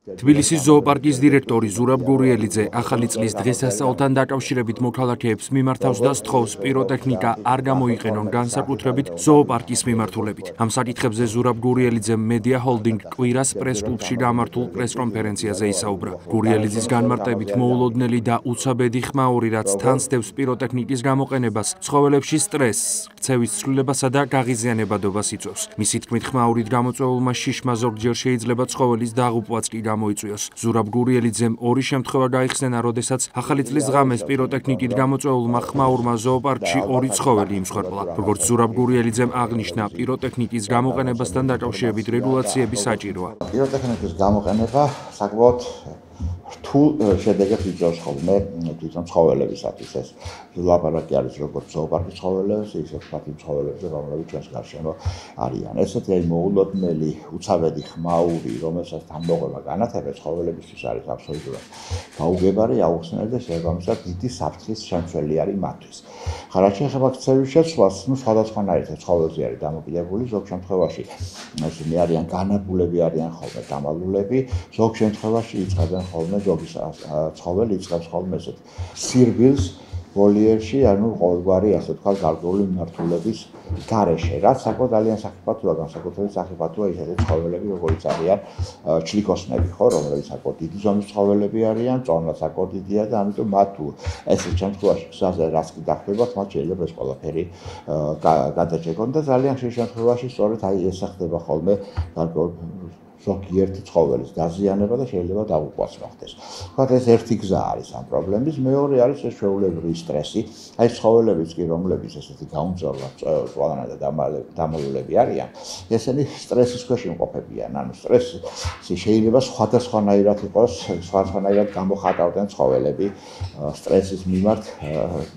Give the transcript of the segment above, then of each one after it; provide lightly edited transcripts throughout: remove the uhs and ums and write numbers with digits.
თბილისის ზოოპარკის დირექტორი ზურაბ გურიელიძე ახალი წლის დღესასწაულთან დაკავშირებით მოქალაქეებს მიმართავს და სთხოვს პიროტექნიკა არ გამოიყენონ განსაკუთრებით ზოოპარკის მიმართულებით. Ამ საკითხებზე ზურაბ გურიელიძემ მედია ჰოლდინგ კვირას პრეს-კლუბში გამართულ პრეს-კონფერენციაზე ისაუბრა. გურიელიძის განმარტებით მოულოდნელი და უცაბედი ხმაური, რაც თან სდევს პიროტექნიკის გამოყენებას, ცხოველებში სტრესს, ქცევის ცვლილებასა და გაღიზიანებადობას იწვევს. Მისი თქმით, ხმაურით გამოწვეულმა შიშმა ზოგჯერ შეიძლება ცხოველის დაღუპვაც კი გამოიწვიოს. ზურაბ გურიელიძემ ორი შემთხვევა გაიხსენა, როდესაც ახალი წლის ღამეს პიროტექნიკით გამოწვეულმა ხმაურმა ზოოპარკში ორი ცხოველი იმსხვერპლა. Როგორც ზურაბ გურიელიძემ აღნიშნა, პიროტექნიკის გამოყენებასთან დაკავშირებით რეგულაციები საჭიროა. Პიროტექნიკის გამოყენება საკმაოდ რთულ შედეგებს იწვევს ხოლმე თვითონ ცხოველებისათვის. ეს ლაპარაკი არის როგორც ზოოპარკის ცხოველებს, ისე ვთქვათ იმ ცხოველებზე, რომლებიც ჩვენს გარშემო არიან. ესეთი მოულოდნელი უცაბედი ხმაური, რომელსაც დამოუკიდებლად განათება ცხოველებისთვის არის აბსოლუტურად გაუგებარი, აუხსნელი და შესაბამისად დიდი საფრთხის შემცველი არის მათთვის. რაც შეეხება ქცევის შეცვლას, სხვადასხვანაირად ცხოველზე არის დამოკიდებული, ზოგ შემთხვევაში ესენი არიან განადგურები, არიან ხოლმე დამალულები, ზოგ შემთხვევაში იწყებენ ხოლმე ზოგი ცხოველი იწყებს ხოლმე ესეთ სირბილს ვოლიერში, ანუ ყოველგვარი ასე ვთქვათ გარკვეული მიმართულების გარეშე, რაც საკმაოდ ძალიან სახიფათოა, განსაკუთრებით სახიფათოა ისეთი ცხოველები, როგორიც არიან ჩლიქოსნები, ხო, რომლებიც საკმაოდ დიდი ზომის ცხოველები არიან, წონა საკმაოდ დიდია და ამიტომ მათ თუ ესეთ შემთხვევაში გზაზე რაც კი დახდებათ, მათ შეიძლება ეს ყველაფერი გადაჭეკონ და ძალიან ხშირ შემთხვევაში სწორედ ეს ხდება ხოლმე გარკვეულ ზოგიერთი ცხოველის დაზიანება და შეიძლება დაღუპვაც მოხდეს. თქვათ ეს ერთი გზა არის ამ პრობლემის, მეორე არის ეს ჩვეულებრივი სტრესი. აი ცხოველებიც კი, რომლებიც ესეთი გაუმძლევრად წვავანა და დამალულები არიან, ესენი სტრესის ქვეშ იმყოფებიან. ანუ სტრესი შეიძლება სხვადასხვანაირად იყოს, სხვადასხვანაირად გამოხატავდნენ ცხოველები სტრესის მიმართ,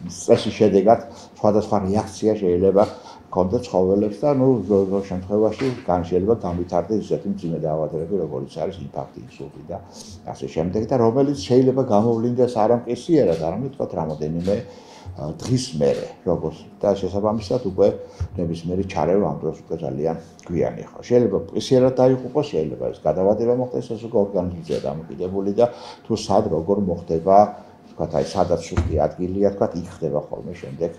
სტრესის შედეგად სხვადასხვა რეაქცია შეიძლება კონდეთ ცხოველებს და ზოგ შემთხვევაში შეიძლება განვითარდეს ისეთი მძიმე დაავადებები, როგორიც არის ინფარქტი, ინსულტი და ასე შემდეგ და რომელიც შეიძლება გამოვლინდეს არა მკისიერად, არამედ თქვათ რამოდენიმე დღის მერე, როგორც და შესაბამისად უკვე ნებისმიერი ჩარევა ამ დროს უკვე ძალიან გვიანი ხო. შეიძლება მკისიერად დაიღუპოს, შეიძლება ეს გადავადება მოხდეს, ეს უკვე ორგანიზმზეა დამოკიდებული და თუ სად როგორ მოხდება თქვათ აი სადაც სუსტი ადგილია, თქვათ იქ ხდება ხოლმე შემდეგ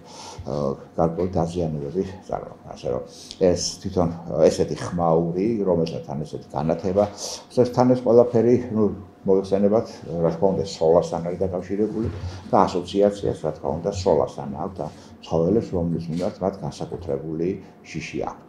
გარკვეული დაზიანებები წარმოქმნა. ასე რომ ეს თვითონ ესეთი ხმაური, რომელსაც თან ესეთი განათება, თან ეს ყველაფერი, მოიხსენებათ, რა თქმა უნდა, სოლასთან არის დაკავშირებული და ასოციაციას, რა თქმა უნდა, სოლასთან აქვს და ცხოველებს, რომლის მიმართ მათ განსაკუთრებული შიში აქვთ.